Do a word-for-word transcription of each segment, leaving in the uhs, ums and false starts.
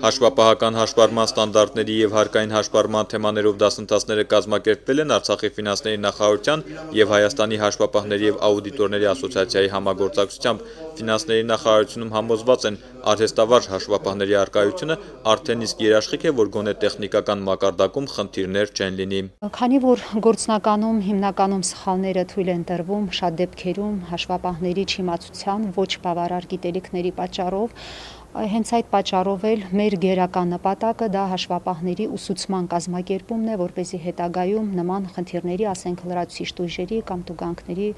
Հաշվապահական հաշվառման ստանդարտների և հարկային հաշվառման թեմաներով դասընթացները կազմակերպվել են Արցախի ֆինանսների նախարարության և Հայաստանի հաշվապահների և աուդիտորների ասոցիացիայի համագործակցությամբ։ Ֆինանսների նախարարությունում համոզված են, արհեստավարժ հաշվապահների առկայությունը արդեն իսկ երաշխիք է, որ գոնե տեխնիկական մակարդակում խնդիրներ չեն լինի։ Քանի որ գործնականում հիմնականում սխալները թույլ են տրվում շատ դեպքերում հաշվապահների չիմացության, ոչ բավարար գիտելիքների պատճառով, հենց այդ պատճառով էլ մեր գերական նպատակը դա հաշվապահների ուսուցման կազմակերպումն է, որպեսզի հետագայում նման խնդիրների, ասենք լրացուցիչ տույժերի կամ տուգանքների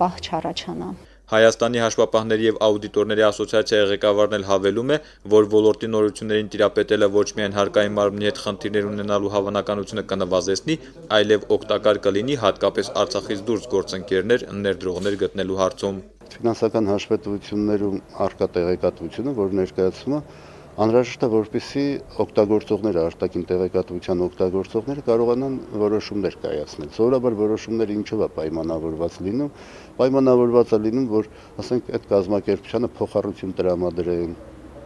պահ չառաջանա։ Հայաստանի հաշվապահների և աուդիտորների ասոցիացիայի ղեկավարն էլ հավելում է, որ ոլորտի նորություններին տիրապետելը ոչ միայն հարկային մարմնի հետ խնդիրներ ունենալու հավանականությունը կնվազեցնի, այլև օգտակար կլինի հատկապես Արցախից դուրս գործընկերներ, ներդրողներ գտնելու հարցում։ Ֆինանսական հաշվետվություններում առկա տեղեկատվությունը, որ ներկայացումը անհրաժեշտ է, որպեսզի օգտագործողները, արտաքին տեղեկատվության օգտագործողները կարողանան որոշումներ կայացնել։ Սովորաբար որոշումները ինչով է պայմանավորված լինում, պայմանավորված է լինում, որ ասենք այդ կազմակերպությանը փոխառություն տրամադրեն,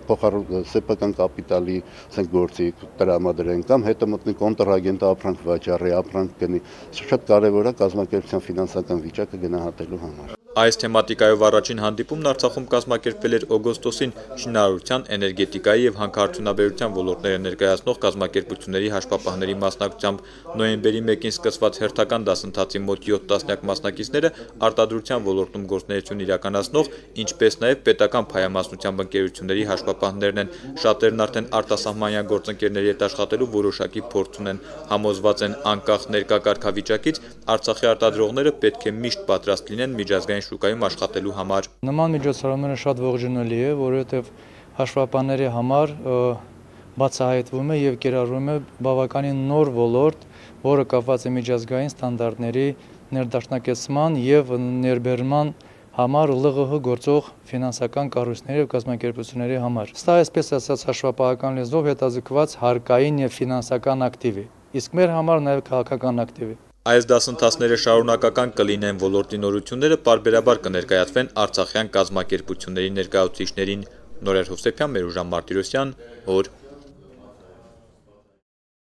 սեփական կապիտալի ասենք գործի տրամադրեն կամ հետը մտնի կոնտրագենտը ապրանք վաճառի, ապրանք գնի։ Սա շատ կարևոր է կազմակերպության ֆինանսական վիճակը գնահատելու համար։ Այս թեմատիկայով առաջին հանդիպումն Արցախում կազմակերպվել էր օգոստոսին շինարարության, էներգետիկայի և հանքարդյունաբերության ոլորտները ներկայացնող կազմակերպությունների հաշվապահների մասնակցությամբ։ Նոյեմբերի մեկին սկսված հերթական դասընթացի մոտ յոթ տասնյակ մասնակիցները արտադրության ոլորտում գործունեություն իրականացնող, ինչպես նաև պետական փայամասնությամբ ընկերությունների հաշվապահներն են։ Շատերն արդեն արտասահմանյան գործընկերների հետ աշխատելու որոշակի փորձ ունեն։ Համոզված են, անկախ ներկա կարգավիճակից Արցախի արտադրողները պետք է միշտ պատրաստ լինեն միջազգային շուկայում աշխատելու համար։ Նման միջոցառումները շատ ողջունելի է, որովհետև հաշվապահների համար բացահայտվում է և կիրառվում է բավականին նոր ոլորտ, որը կապված է միջազգային ստանդարտների ներդաշնակեցման և ներբեռնման համար ԼՂՀ գործող ֆինանսական կառույցների և կազմակերպությունների համար։ Սա այսպես ասած հաշվապահական լեզվով հետաձգված հարկային և ֆինանսական ակտիվ է, իսկ մեր համար նաև քաղաքական ակտիվ է։ Այս դասընթացները շարունակական կլինեն, ոլորտի նորությունները պարբերաբար կներկայացվեն արցախյան կազմակերպությունների ներկայացուցիչներին։ Նորեր Հովսեփյան, Մերուժան Մարտիրոսյան, օր